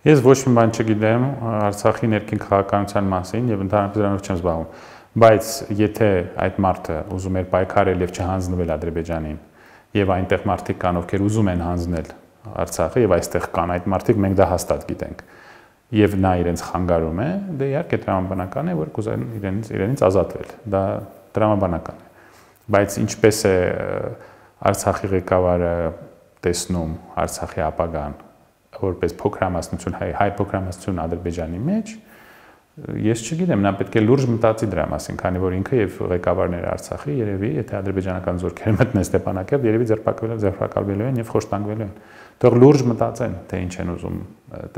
Ես ոչ մի բան չգիտեմ Արցախի ներքին քաղաքականության մասին եւ ընդհանրապես դրանով չեմ զբաղվում, բայց եթե այդ մարդը ուզում էր պայքարել եւ չհանձնվել Ադրբեջանին եւ այնտեղ մարդիկ կան, ովքեր ուզում են հանձնել Արցախը եւ այստեղ կան այդ մարդիկ, մենք դա հաստատ գիտենք եւ նա իրենց խանգարում է, դե իհարկե տրամաբանական է, որ կուզեն իրենից ազատվել, դա տրամաբանական է, բայց ինչպես է Արցախի ղեկավարը տեսնում Արցախի ապագան որպես փոքրամասնություն, հայ փոքրամասնություն Ադրբեջանի մեջ, ես չգիտեմ, նա պետք է լուրջ մտածի դրա մասին, քանի որ ինքը եւ ղեկավարները Արցախի երևի, եթե ադրբեջանական զորքերը մտնեն Ստեփանակերտ, երևի ձերբակալվելու են եւ խոշտանգվելու են։ Թող լուրջ մտածեն, թե ինչ են ուզում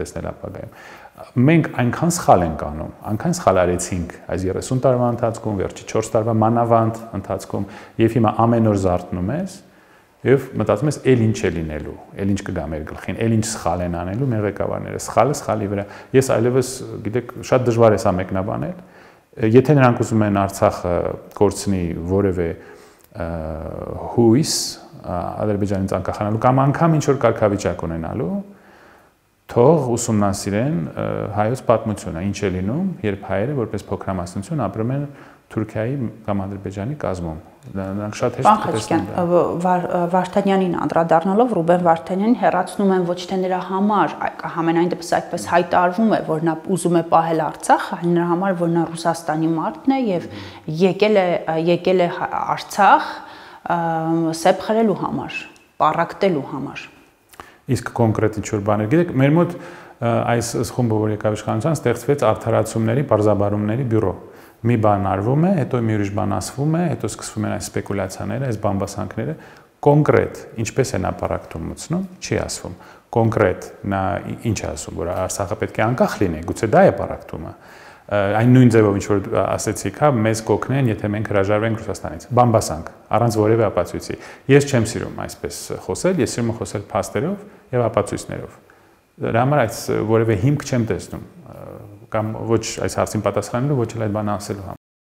տեսնել ապագայում։ Մենք այնքան սխալ ենք անում, այնքան սխալ արեցինք այս 30 տարվա ընթացքում, վերջի 4 տարվա մանավանդ ընթացքում, եւ հիմա ամեն օր զարթնում ես եւ մտածում ես, էլ ինչ է լինելու, էլ ինչ կգա մեր գլխին, էլ ինչ սխալ են անելու մեր ղեկավարները, սխալը սխալի վրա։ Ես այլևս, գիտեք, շատ դժվար է սա մեկնաբանել։ Եթե նրանք ուզում են Արցախը կորցնի որևէ հույս Ադրբեջանից անկախանալու կամ անգամ ինչ որ կարգավիճակ ունենալու, թող ուսումնասիրեն հայոց պատմությունը, ինչ է լինում, երբ հայերը որպես փոքրամասնություն ապրում են Թուրքիայի կամ Ադրբեջանի կազմում։ Նրանք շատ հեշտ կտեսնեն դա։ Վարդանյանին անդրադառնալով Ռուբեն Վարդանյանին հեռացնում են ոչ թե նրա համար, համենայն դեպս այդպես հայտարարվում է, որ նա ուզում է պահել Արցախը, այլ նրա համար, որ նա Ռուսաստանի մարդն է եւ եկել է Արցախ սեփ խրելու համար, պառակտելու համար։ Իսկ կոնկրետ ինչ-որ բաներ, գիտեք, մեր մոտ այս խումբը, որ եկավ իշխանության, ստեղծվեց արդարացումների, պարզաբարումների բյուրո։ Մի բան արվում է, հետո մի ուրիշ բան ասվում է, հետո սկսվում են այս սպեկուլյացիաները, այս բամբասանքները, կոնկրետ ինչպես է նա պառակտում մտցնում, չի ասվում։ Կոնկրետ նա ինչ է ասում, որ Արցախը պետք է անկախ լինի, գուցե դա է պառակտումը։ Այն նույն ձևով ինչ որ ասեցիք, հա, մեզ կօգնեն, եթե մենք հրաժարվենք Ռուսաստանից։ Բամբասանք, առանց որևէ ապացույցի։ Ես չեմ սիրում այսպես խոսել, ես սիրում եմ խոսել փաստերով եւ ապացույցներով։ Դրա համար այս որևէ հիմք չեմ տեսնում կամ ոչ այս հարցին պատասխանելու, ոչ էլ այդ բանը ասելու համար։